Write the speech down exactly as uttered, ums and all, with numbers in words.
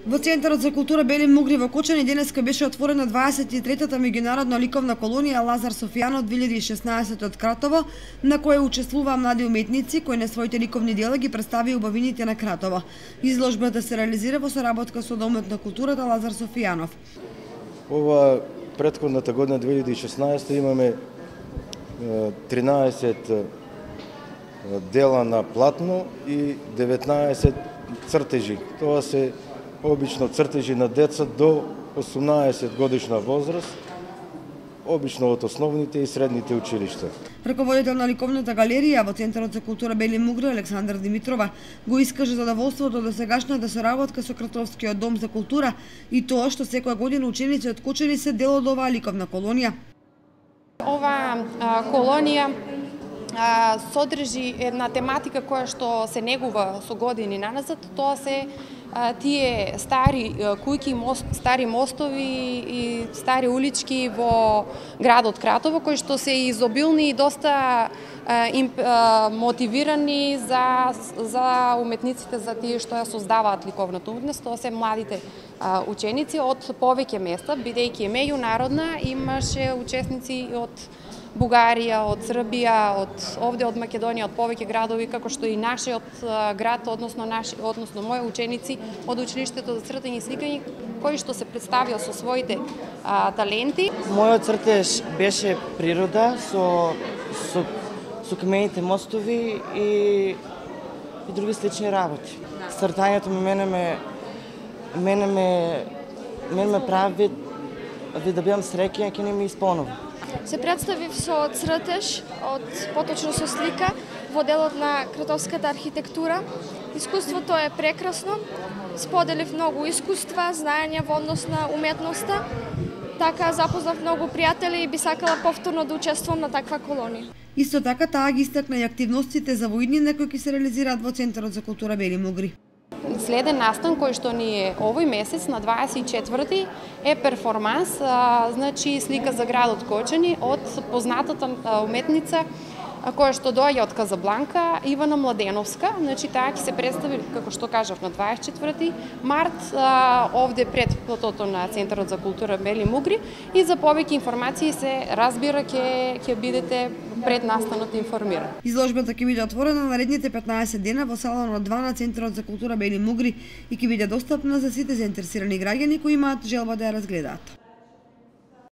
Во Центарот за култура Бели Мугри во Кочани денеска беше отворена дваесет и третата меѓународна ликовна колонија Лазар Софијанов две илјади и шеснаесет од Кратово, на која учествуваа млади уметници кои на своите ликовни дела ги представија убавините на Кратово. Изложбата се реализира во соработка со Домот на културата Лазар Софијанов. Ова претходната година две илјади и шеснаесета имаме тринаесет дела на платно и деветнаесет цртежи. Тоа се обично цртежи на деца до осумнаесет годишна возраст, обично од основните и средните училишта. Раководител на ликовната галерија во Центарот за култура Бели Мугри Александра Димитрова го искаже задоволството од досегашната соработка со Кратовскиот дом за култура и тоа што секоја година ученици од Кочани се дел од оваа ликовна колонија. Ова а, колонија а, содржи една тематика која што се негува со години наназад. Тоа се а, тие стари куќи, мост, стари мостови и стари улички во градот Кратово, кои што се изобилни и доста а, им, а, мотивирани за, за уметниците, за тие што ја создаваат ликовната уметност. Тоа се младите а, ученици од повеќе места, бидејќи е меѓународна, имаше учесници од Бугарија, од Србија, од овде од Македонија, од повеќе градови, како што и нашиот град, односно наши, односно мои ученици од училиштето за цртање и сликање, кои што се представија со своите а, таленти. Мојот цртеж беше природа со со со камените мостови и и други слични работи. Цртањето мене ме мене ме мене ме прави ви да бидам среќен, ќе не ми исполнува. Се представив со цртеж, од поточно со слика, во делот на кратовската архитектура. Искуството е прекрасно, споделив многу искуства, знаења во однос на уметноста, така запознав многу пријатели и би сакала повторно да учествувам на таква колонија. Исто така таа ги истакна и активностите за воиднина кои ќе се реализираат во Центарот за култура Бели Мугри. Следен настан кој што ни е овој месец на дваесет и четврти е перформанс, а, значи слика за градот Кочани од познатата уметница која што доаѓа од Казабланка, Ивана Младеновска. Значи таа ќе се представи, како што кажав, на дваесет и четврти март а, овде пред платото на Центарот за култура Бели Мугри, и за повеќе информации се разбира ќе ќе бидете пред настанот информирани. Изложбата ќе биде отворена наредните петнаесет дена во салонот два на Центарот за култура Бели Мугри и ќе биде достапна за сите заинтересирани граѓани кои имаат желба да ја разгледаат.